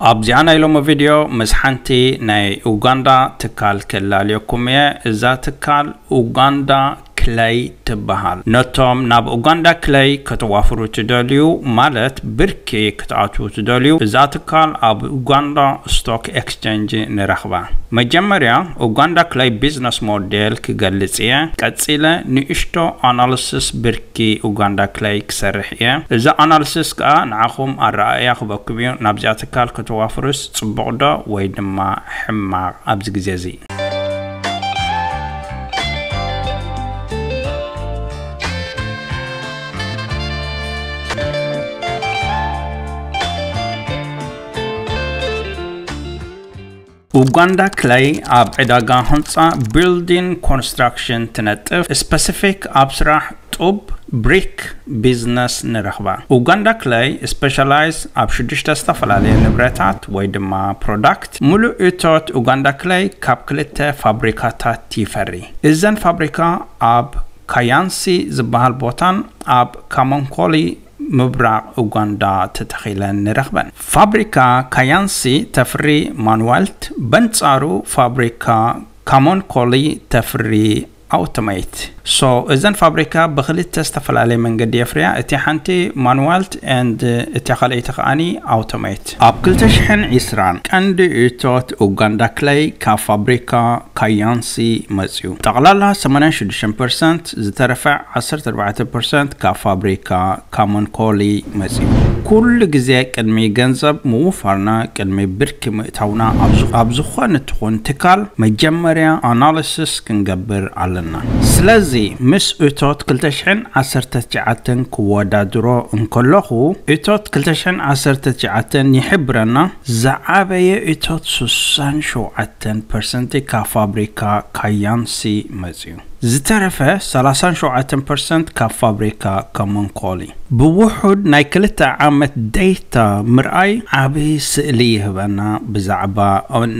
ኣብዚኣ ናይ ሎሚ ቪድዮ ምስ ሓንቲ ናይ ኡጋንዳ ትካል ክላለየኩም እየ። እዛ ትካል ኡጋንዳ ክለይ ትበሃል። ነቶም ናብ ኡጋንዳ ክለይ ከተዋፍሩ ትደልዩ፣ ማለት ብርኪ ክትኣትዉ ትደልዩ፣ እዛ ትካል ኣብ ኡጋንዳ ስቶክ ኤክስቼንጅ ንረኽባ። መጀመርያ ኡጋንዳ ክለይ ቢዝነስ ሞዴል ክገልጽ እየ። ቀጺለ ንእሽቶ ኣናሊሲስ ብርኪ ኡጋንዳ ክለይ ክሰርሕ እየ። እዚ ኣናሊሲስ ከኣ ንዓኹም ኣረኣእያ ክበኩም እዩ። ናብዚኣ ትካል ከተዋፍሩስ ጽቡቕ ዶ ወይ ድማ ሕማቕ ኣብዚ ግዜ እዚ? ኡጋንዳ ክለይ ኣብ ዕዳጋ ህንጻ ቢልዲንግ ኮንስትራክሽን ትነጥፍ። ስፐሲፊክ ኣብ ስራሕ ጡብ ብሪክ ቢዝነስ ንረኽባ። ኡጋንዳ ክለይ ስፔሻላይዝ ኣብ ሽዱሽተ ዝተፈላለየ ንብረታት ወይ ድማ ፕሮዳክት። ሙሉእ እቶት ኡጋንዳ ክለይ ካብ ክልተ ፋብሪካታት ይፈሪ። እዘን ፋብሪካ ኣብ ካያንሲ ዝበሃል ቦታን ኣብ ካሞንኮሊ ምብራቕ ኡጋንዳ ተተኺለን ንረኽበን። ፋብሪካ ካያንሲ ተፍሪ ማንዋልት፣ በንጻሩ ፋብሪካ ካሞንኮሊ ተፍሪ ኣውቶሜት። ሶ እዘን ፋብሪካ ብክልተ ዝተፈላለየ መንገዲ የፍርያ። እቲ ሓንቲ ማንዋልት ኤንድ እቲ ካልኣይቲ ከኣኒ ኣውቶሜት። ኣብ ክልተ ሽሕን ዕስራን ቀንዲ እቶት ኡጋንዳ ክለይ ካብ ፋብሪካ ካያንሲ መጽዩ። ጠቕላላ ሰማንያን ሽዱሽተን ፐርሰንት፣ ዝተረፈ ዓሰርተ ኣርባዕተ ፐርሰንት ካብ ፋብሪካ ካሞንኮሊ መጽዩ። ኩሉ ግዜ ቅድሚ ገንዘብ ምውፋርና፣ ቅድሚ ብርኪ ምእታውና ኣብ ዝ-፣ ኣብ ዝኾነ ትኹን ትካል መጀመርያ ኣናሊሲስ ክንገብር ኣለና። ስለዚ ምስ እቶት ክልተ ሽሕን ዓሰርተ ትሽዓተን ክወዳድሮ እንከለኹ፣ እቶት ክልተ ሽሕን ዓሰርተ ትሽዓተን ይሕብረና፣ ዝዓበየ እቶት ስሳን ሸውዓተን ፐርሰንት ካብ ፋብሪካ ካያንሲ መጽዩ። ዝተረፈ ሰላሳን ሸውዓተን ፐርሰንት ካብ ፋብሪካ ካሞንኮሊ። ብውሑድ ናይ ክልተ ዓመት ዴታ ምርኣይ ዓቢ ስእሊ ይህበና ብዛዕባ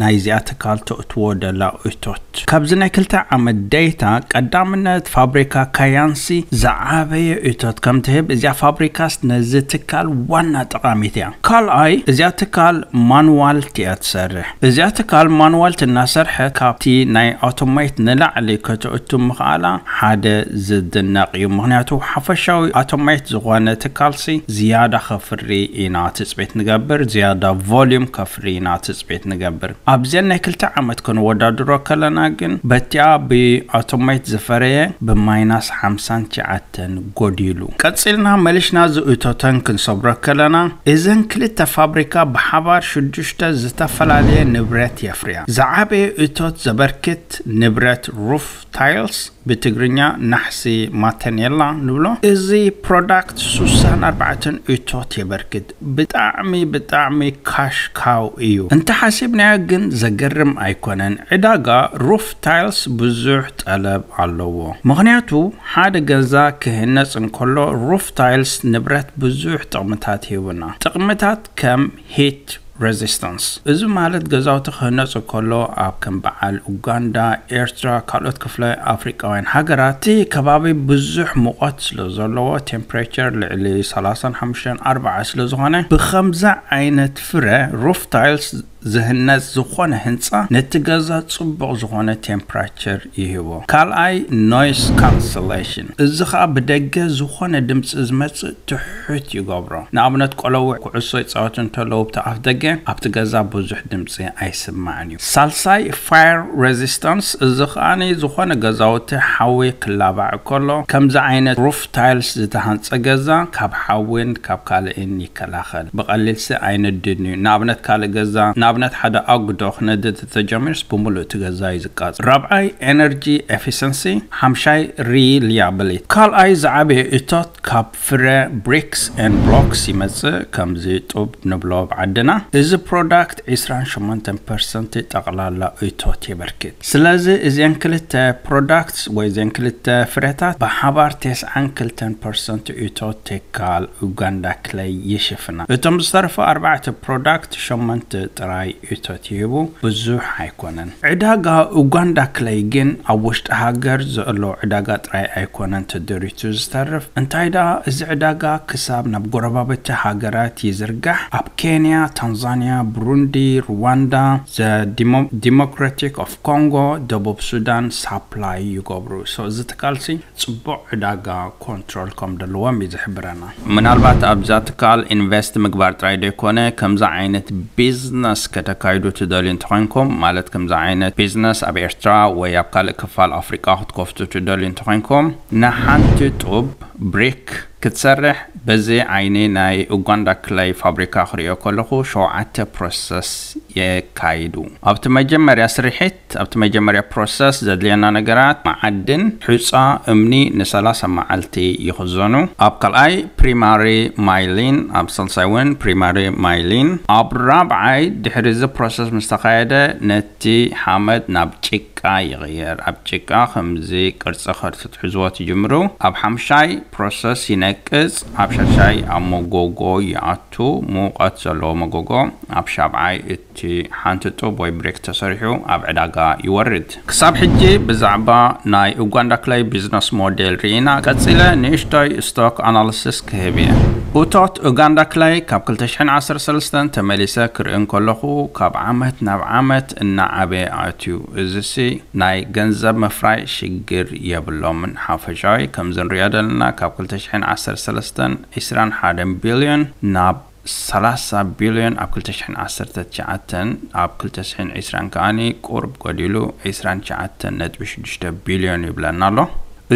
ናይዚኣ ትካል ተእትዎ ደላ እቶት። ካብዚ ናይ ክልተ ዓመት ዴታ ቀዳምነት ፋብሪካ ካያንሲ ዝዓበየ እቶት ከም ትህብ፣ እዚኣ ፋብሪካስ ነዚ ትካል ዋና ጠቓሚት እያ። ካልኣይ፣ እዚኣ ትካል ማንዋልት እያ ትሰርሕ። እዚኣ ትካል ማንዋልት እናሰርሐት ካብቲ ናይ ኣውቶሜት ንላዕሊ ከተእቱ ምኽኣላ ሓደ ዝድነቕ እዩ። ምኽንያቱ ሓፈሻዊ ኣውቶሜት ዝኾነ ትካልሲ ዝያዳ ከፍሪ ኢና ትጽቢት ንገብር፣ ዝያዳ ቮሊዩም ከፍሪ ኢና ትጽቢት ንገብር። ኣብዘን ናይ ክልተ ዓመት ክንወዳድሮ ከለና ግን በቲኣ ብኣውቶሜት ዝፈረየ ብማይናስ ሓምሳን ትሽዓተን ጎዲሉ። ቀጺልና መሊሽና ዝእቶተን ክንሰብሮ ከለና፣ እዘን ክልተ ፋብሪካ ብሓባር ሽዱሽተ ዝተፈላለየ ንብረት የፍርያ። ዝዓበየ እቶት ዘበርክት ንብረት ሩፍ ታይልስ፣ ብትግርኛ ናሕሲ ማተኔላ ንብሎ። እዚ ፕሮዳክት ስሳን ኣርባዕተን እቶት የበርክት። ብጣዕሚ፣ ብጣዕሚ ካሽ ካው እዩ። እንተሓሲብናዮ ግን ዘገርም ኣይኮነን። ዕዳጋ ሩፍ ታይልስ ብዙሕ ጠለብ ኣለዎ። ምኽንያቱ ሓደ ገዛ ክህነጽ እንከሎ ሩፍ ታይልስ ንብረት ብዙሕ ጥቕምታት ይህቡና። ጥቕምታት ከም ሂት ሬዚስታንስ። እዚ ማለት ገዛውቲ ክህነጹ ከሎ ኣብ ከም በዓል ኡጋንዳ፣ ኤርትራ፣ ካልኦት ክፍለ ኣፍሪቃውያን ሃገራት እቲ ከባቢ ብዙሕ ሙቐት ስለ ዘለዎ፣ ቴምፕሬቸር ልዕሊ ሰላሳን ሓሙሽተን ኣርባዓ ስለ ዝኾነ፣ ብኸምዚ ዓይነት ፍረ ሩፍ ታይልስ ዝህነጽ ዝኾነ ህንጻ ነቲ ገዛ ጽቡቕ ዝኾነ ቴምፕሬቸር ይህቦ። ካልኣይ፣ ኖይስ ካንሰሌሽን። እዚ ኸኣ ብደገ ዝኾነ ድምጺ ዝመጽእ ትሑት ይገብሮ። ንኣብነት፣ ቆለውዕ ኩዕሶ ይጻወቱ እንተለዉ፣ ብቲ ኣፍ ደገ ኣብቲ ገዛ ብዙሕ ድምጺ ኣይስማዕን እዩ። ሳልሳይ፣ ፋየር ሬዚስታንስ። እዚ ኸኣ ዝኾነ ገዛውቲ ሓዊ ክላባዕ ከሎ፣ ከምዚ ዓይነት ሩፍ ታይልስ ዝተሃንጸ ገዛ ካብ ሓዊን ካብ ካልእን ይከላኸል። ብቐሊልሲ ኣይነድድን እዩ። ንኣብነት፣ ካልእ ገዛ፣ ንኣብነት፣ ሓደ ኣጉዶ ክነድድ ተጀሚሩስ፣ ብምሉእ እቲ ገዛ እዩ ዝቃጸል። ራብዓይ፣ ኤነርጂ ኤፊሸንሲ። ሓምሻይ፣ ሪሊያብሊቲ። ካልኣይ ዝዓበየ እቶት ካብ ፍረ ብሪክስ ኤንድ ብሎክስ ይመጽእ፣ ከምዚ ጡብ ንብሎ ብዓድና። እዚ ፕሮዳክት ዕስራን ሸሞንተን ፐርሰንት ጠቕላላ እቶት የበርክት። ስለዚ እዘን ክልተ ፕሮዳክትስ ወይ እዘን ክልተ ፍረታት ብሓባር ተስዓን ክልተን ፐርሰንት እቶት ትካል ኡጋንዳ ክለይ ይሽፍና። እቶም ዝተረፉ ኣርባዕተ ፕሮዳክት ሸሞንተ ጥራይ እቶት ይህቡ ብዙሕ ኣይኮነን። ዕዳጋ ኡጋንዳ ክለይ ግን ኣብ ውሽጢ ሃገር ዘሎ ዕዳጋ ጥራይ ኣይኮነን ተደሪቱ ዝተርፍ። እንታይ ደኣ፣ እዚ ዕዳጋ ክሳብ ናብ ጎረባብቲ ሃገራት ይዝርጋሕ። ኣብ ኬንያ፣ ታንዛንያ፣ ብሩንዲ፣ ሩዋንዳ፣ ዘ ዲሞክራቲክ ኦፍ ኮንጎ፣ ደቡብ ሱዳን ሳፕላይ ይገብሩ። So እዚ ትካልሲ ጽቡቕ ዕዳጋ ኮንትሮል ከም ዘለዎም እዩ ዝሕብረና። ምናልባት ኣብዛ ትካል ኢንቨስት ምግባር ጥራይ ዘይኮነ፣ ከምዚ ዓይነት ቢዝነስ ከተካይዱ ትደልዩ እንተኾይንኩም፣ ማለት ከምዚ ዓይነት ቢዝነስ ኣብ ኤርትራ ወይ ኣብ ካልእ ክፋል ኣፍሪቃ ክትከፍቱ ትደልዩ እንተኾይንኩም፣ ንሓንቲ ጡብ ብሪክ ክትሰርሕ በዚ ዓይኒ ናይ ኡጋንዳ ክለይ ፋብሪካ ክሪኦ ከለኹ ሸውዓተ ፕሮሰስ የካይዱ። ኣብቲ መጀመርያ ስርሒት ኣብቲ መጀመርያ ፕሮሰስ ዘድልየና ነገራት፣ መዓድን፣ ሑጻ፣ እምኒ ንሰላሳ መዓልቲ ይኽዘኑ። ኣብ ካልኣይ ፕሪማሪ ማይሊን፣ ኣብ ሳልሳይ እውን ፕሪማሪ ማይሊን። ኣብ ራብዓይ ድሕሪ እዚ ፕሮሰስ ምስ ተኻየደ ነቲ ሓመድ ናብ ጭቃ ይቕየር። ኣብ ጭቃ ከምዚ ቅርጺ ከርትትሕዝዎ ትጅምሩ። ኣብ ሓምሻይ ፕሮሰስ ይነቅጽ። ኣብ ሻሻይ ኣብ መጎጎ ይኣቱ። ሙቐት ዘለዎ መጎጎ። ኣብ ሻብዓይ እቲ ሓንቲ ጡብ ወይ ብሬክ ተሰሪሑ ኣብ ዕዳጋ ይወርድ። ክሳብ ሕጂ ብዛዕባ ናይ ኡጋንዳ ክለይ ቢዝነስ ሞዴል ርኢና፣ ቀጺለ ንእሽቶይ ስቶክ ኣናሊሲስ ክህብ እየ። እቶት ኡጋንዳ ክለይ ካብ ክልተ ሽሕን ዓሰርተ ሰለስተን ተመሊሰ ክርኢ እንከለኹ፣ ካብ ዓመት ናብ ዓመት እናዓበየ ኣትዩ። እዚሲ ናይ ገንዘብ ምፍራይ ሽግር የብሎምን። ሓፈሻዊ ከምዚ ንሪኦ ዘለና ካብ ክልተ ሽሕን ዓሰርተ ሰለስተን ዕስራን ሓደን ቢልዮን ናብ ሰላሳ ቢልዮን ኣብ ክልተ ሽሕን ዓሰርተ ትሽዓተን፣ ኣብ ክልተ ሽሕን ዕስራን ከኣኒ ቁርብ ጎዲሉ ዕስራን ትሽዓተን ነጥቢ ሽዱሽተ ቢልዮን ይብለና ኣሎ።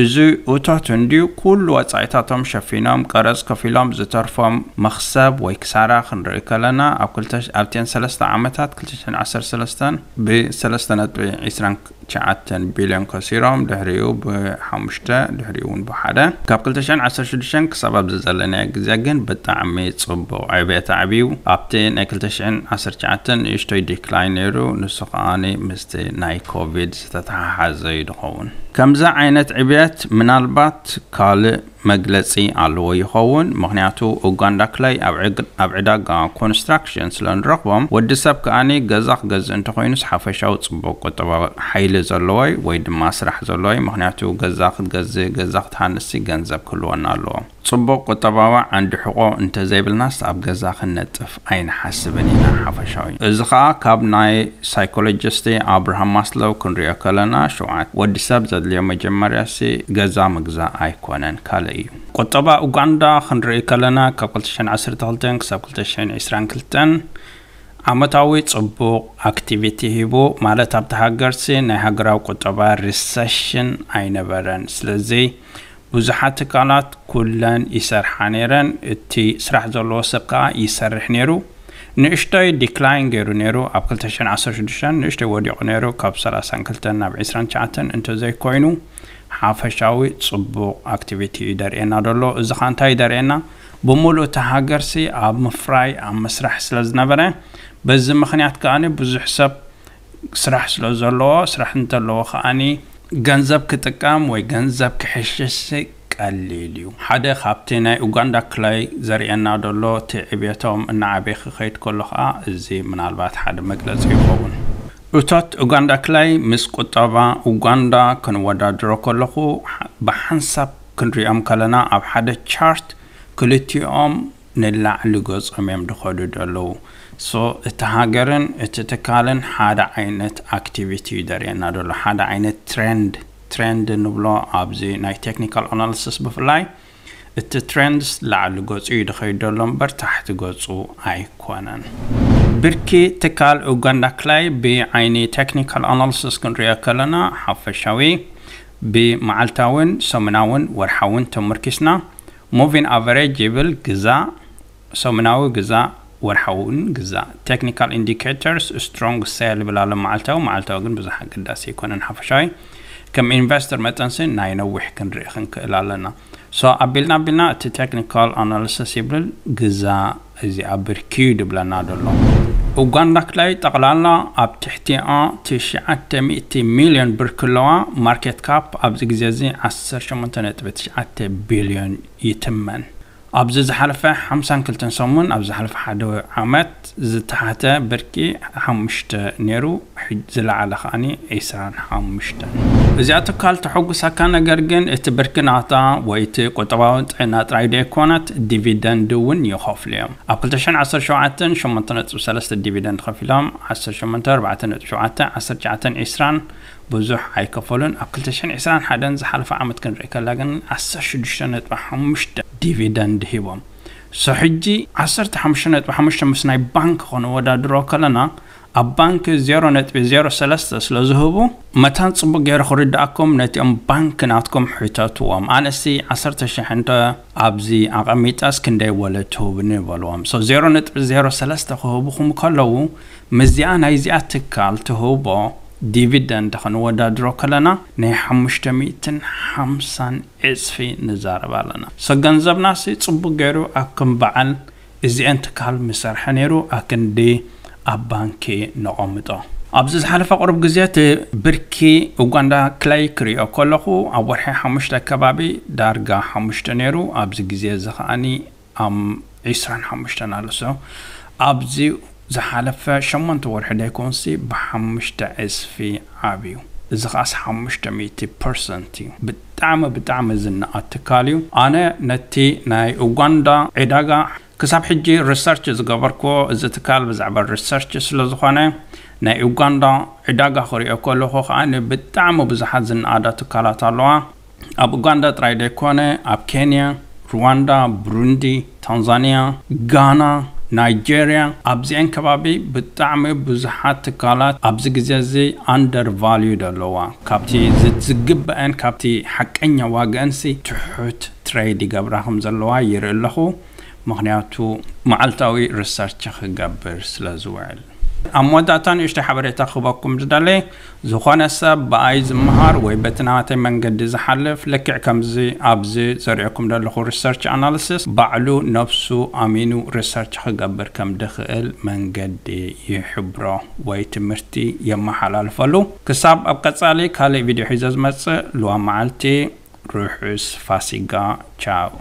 እዚ እቶት እንድዩ ኩሉ ወጻኢታቶም ሸፊኖም፣ ቀረጽ ከፊሎም፣ ዝተርፎም መኽሰብ ወይ ክሳራ ክንርኢ ከለና፣ ኣብ ክልተ፣ ኣብተን ሰለስተ ዓመታት፣ ክልተ ሽሕን ዓሰርተ ሰለስተን ብሰለስተ ነጥቢ ዕስራን ትሽዓተን ቢልዮን ከሲሮም፣ ድሕሪኡ ብሓሙሽተ፣ ድሕሪኡ እውን ብሓደ። ካብ ክልተ ሽሕን ዓሰርተ ሽዱሽተን ክሳብ ኣብዚ ዘለናዮ ግዜ ግን ብጣዕሚ ጽቡቕ ዕብየት ኣዕብዩ። ኣብቲ ናይ ክልተ ሽሕን ዓሰርተ ትሽዓተን ንእሽቶይ ዲክላይን ነይሩ፣ ንሱ ከኣ ምስቲ ናይ ኮቪድ ዝተተሓሓዘ እዩ ዝኸውን። ከምዚ ዓይነት ዕብየት ምናልባት ካልእ መግለጺ ኣለዎ ይኸውን። ምኽንያቱ ኡጋንዳ ክለይ ኣብ ዕግ-፣ ኣብ ዕዳጋ ኮንስትራክሽን ስለ ንረኽቦም፣ ወዲ ሰብ ከኣኒ ገዛ ክገዝእ እንተኾይኑስ ሓፈሻዊ ጽቡቕ ቁጠባዊ ሓይሊ ዘለዎይ ወይ ድማ ስራሕ ዘለዎይ። ምኽንያቱ ገዛ ክትገዝእ፣ ገዛ ክትሃንሲ ገንዘብ ክህልወና ኣለዎ። ጽቡቕ ቁጠባዊ ዓንዲ ሕቖ እንተዘይብልናስ ኣብ ገዛ ክንነጥፍ ኣይንሓስብን ኢና ሓፈሻዊ። እዚ ኸኣ ካብ ናይ ሳይኮሎጂስት ኣብርሃም ማስሎው ክንሪኦ ከለና፣ ሸውዓተ፣ ወዲ ሰብ ዘድልዮ መጀመርያሲ ገዛ ምግዛእ ኣይኮነን፣ ካልእ እዩ። ቁጠባ ኡጋንዳ ክንርኢ ከለና፣ ካብ ክልተ ሽሕን ዓሰርተ ክልተን ክሳብ ክልተ ሽሕን ዕስራን ክልተን ዓመታዊ ጽቡቕ ኣክቲቪቲ ሂቡ፣ ማለት ኣብቲ ሃገርሲ ናይ ሃገራዊ ቁጠባ ሪሰሽን ኣይነበረን። ስለዚ ብዙሓት ትካላት ኩለን ይሰርሓ ነይረን፣ እቲ ስራሕ ዘለዎ ሰብ ከኣ ይሰርሕ ነይሩ። ንእሽቶይ ዲክላይን ገይሩ ነይሩ፣ ኣብ ክልተ ሽሕን ዓሰርተ ሽዱሽተን ንእሽቶይ ወዲቑ ነይሩ፣ ካብ ሰላሳን ክልተን ናብ ዕስራን ትሽዓተን እንተዘይኮይኑ ሓፈሻዊ ጽቡቕ ኣክቲቪቲ እዩ ደርእየና ዘሎ። እዚ ኸኣ እንታይ እዩ ደርእየና? ብምሉእ እታ ሃገርሲ ኣብ ምፍራይ፣ ኣብ ምስራሕ ስለ ዝነበረ፣ በዚ ምኽንያት ከኣ ብዙሕ ሰብ ስራሕ ስለ ዘለዎ፣ ስራሕ እንተለዎ ከኣኒ ገንዘብ ክጥቀም ወይ ገንዘብ ክሕሽሽ ቀሊል እዩ። ሓደ ካብቲ ናይ ኡጋንዳ ክላይ ዘርእየና ዘሎ፣ እቲ ዕብየቶም እናዓበየ ክኸይድ ከሎ ከኣ፣ እዚ ምናልባት ሓደ መግለጺ ይኸውን። እቶት ኡጋንዳ ክላይ ምስ ቁጠባ ኡጋንዳ ክንወዳድሮ ከለኹ፣ ብሓንሳብ ክንሪኦም ከለና፣ ኣብ ሓደ ቻርት ክልቲኦም ንላዕሊ ገጾም እዮም ድኸዱ ደለዉ። So እቲ ሃገርን እቲ ትካልን ሓደ ዓይነት ኣክቲቪቲ እዩ ደርእየና ደሎ፣ ሓደ ዓይነት ትሬንድ። ትሬንድ ንብሎ ኣብዚ ናይ ቴክኒካል ኣናሊሲስ ብፍላይ፣ እቲ ትሬንድስ ላዕሊ ገጹ እዩ ድኸይድ ደሎ እምበር ታሕቲ ገጹ ኣይኮነን። ብርኪ ትካል ኡጋንዳ ክላይ ብዓይኒ ቴክኒካል ኣናሊሲስ ክንሪኦ ከለና፣ ሓፈሻዊ ብመዓልታውን ሰሙናውን ወርሓውን ተመርኪስና፣ ሙቪን ኣቨሬጅ ይብል፣ ግዛእ፣ ሰሙናዊ ግዛእ፣ ወርሓውን ግዛእ። ቴክኒካል ኢንዲኬተርስ ስትሮንግ ሴል ይብል ኣሎ፣ መዓልታዊ። መዓልታዊ ግን ብዙሕ ኣገዳሲ ኣይኮነን። ሓፈሻዊ ከም ኢንቨስተር መጠንሲ ናይ ነዊሕ ክንርኢ ክንክእል ኣለና። So ኣቢልና ኣቢልና እቲ ቴክኒካል ኣናሊሲስ ይብል፣ ግዛእ፣ እዚኣ ብርኪ እዩ ድብለና ደሎ። ኡጋንዳ ክላይ ጠቕላላ ኣብ ትሕቲኣ ትሽዓተ ሚእቲ ሚልዮን ብርኪ ኣለዋ። ማርኬት ካፕ ኣብዚ ግዜ እዚ ዓሰርተ ሸሞንተ ነጥቢ ትሽዓተ ቢልዮን ይትመን። ኣብዚ ዝሓለፈ ሓምሳን ክልተን ሰሙን፣ ኣብ ዝሓለፈ ሓደ ዓመት ዝተሓተ ብርኪ ሓሙሽተ ነይሩ፣ ዝለዓለ ከዓኒ ዒስራን ሓሙሽተን። እዚኣ ትካል ተሐጉሳካ፣ ነገር ግን እቲ ብርኪ ናታ ወይ እቲ ቁጠባዊ ጥዕና ጥራይ ደይኮነት፣ ዲቪደንድ እውን ይኸፍሉ እዮም። ኣብ ክልተ ሽሕን ዓሰርተ ሸውዓተን ሸሞንተ ነጥቢ ሰለስተ ዲቪደንድ ከፊሎም፣ ዓሰርተ ሸሞንተ፣ ኣርባዕተ ነጥቢ ሸውዓተ፣ ዓሰርተ ትሽዓተን ዒስራን ብዙሕ ኣይከፈሉን። ኣብ ክልተ ሽሕን ዒስራን ሓደን ዝሓለፈ ዓመት ክንርኢ ከላ ግን ዓሰርተ ሽዱሽተ ነጥቢ ሓሙሽተ ዲቪደንድ ሂቦም። ሶ ሕጂ ዓሰርተ ሓሙሽተ ነጥቢ ሓሙሽተ ምስ ናይ ባንክ ከነወዳድሮ ከለና፣ ኣብ ባንክ ዜሮ ነጥቢ ዜሮ ሰለስተ ስለ ዝህቡ፣ መታን ጽቡቅ ገይሩ ክርድኣኩም ነቲኦም ባንክ ናትኩም ሕተትዎም። ኣነሲ ዓሰርተ ሽሕ እንተ ኣብዚ ኣቐሚጠስ ክንደይ ወለድ ትህቡኒ በልዎም። ሶ ዜሮ ነጥቢ ዜሮ ሰለስተ ክህቡኹም ከለዉ፣ ምስዚኣ ናይዚኣ ትካል ትህቦ ዲቪደንድ ክንወዳድሮ ከለና፣ ናይ ሓሙሽተ ሚእትን ሓምሳን ዕጽፊ ንዛረብ ኣለና። ሶ ገንዘብናሲ ጽቡቅ ገይሩ ኣብ ከም በዓል እዚአን ትካል ምሰርሐ ነይሩ፣ ኣክንዲ ኣብ ባንኪ ነቐምጦ። ኣብዚ ዝሓለፈ ቁሩብ ግዜ እቲ ብርኪ ኡጋንዳ ክላይ ክሪኦ ከለኹ፣ ኣብ ወርሒ ሓሙሽተ ከባቢ ዳርጋ ሓሙሽተ ነይሩ፣ ኣብዚ ግዜ እዚ ከዓኒ ኣብ ዒስራን ሓሙሽተን ኣሎ። ሶ ኣብዚ ዝሓለፈ ሸሞንተ ወርሒ ደይኮንሲ ብሓሙሽተ ዕጽፊ ዓብዩ። እዚ ከዓስ ሓሙሽተ ሚእቲ ፐርሰንት እዩ። ብጣዕሚ፣ ብጣዕሚ ዝነኣድ ትካል እዩ። ኣነ ነቲ ናይ ኡጋንዳ ዕዳጋ ክሳብ ሕጂ ሪሰርች ዝገበርኩዎ፣ እዚ ትካል ብዛዕባ ሪሰርች ስለ ዝኾነ፣ ናይ ኡጋንዳ ዕዳጋ ክሪኦ ከለኹ ከዓኒ ብጣዕሚ ብዙሓት ዝነኣዳ ትካላት ኣለዋ። ኣብ ኡጋንዳ ጥራይ ደይኮነ፣ ኣብ ኬንያ፣ ሩዋንዳ፣ ብሩንዲ፣ ታንዛንያ፣ ጋና፣ ናይጄርያ፣ ኣብዚአን ከባቢ ብጣዕሚ ብዙሓት ትካላት ኣብዚ ግዜ እዚ ኣንደር ቫልዩ ኣለዋ። ካብቲ ዝ-፣ ዝግበአን፣ ካብቲ ሓቀኛ ዋግአንሲ ትሑት ትሬድ ይገብራ ከም ዘለዋ ይርኢ ኣለኹ። ምኽንያቱ መዓልታዊ ሪሰርች ክገብር ስለ ዝውዕል። ኣብ መወዳእታ ንእሽተይ ሓበሬታ ክህበኩም ዝደሊ፣ ዝኾነ ሰብ ብኣይ ዝመሃር ወይ በቲ ናተይ መንገዲ ዝሓልፍ፣ ልክዕ ከምዚ ኣብዚ ዘርእየኩም ዘለኹ ሪሰርች ኣናሊሲስ፣ ባዕሉ ነብሱ ኣሚኑ ሪሰርች ክገብር ከም ድኽእል መንገዲ ይሕብሮ ወይ ትምህርቲ የመሓላልፈሉ። ክሳብ ኣብ ቀጻሊ ካልእ ቪድዮ ሒዘ ዝመጽእ፣ ልዋ መዓልቲ፣ ርሑስ ፋሲጋ። ቻው።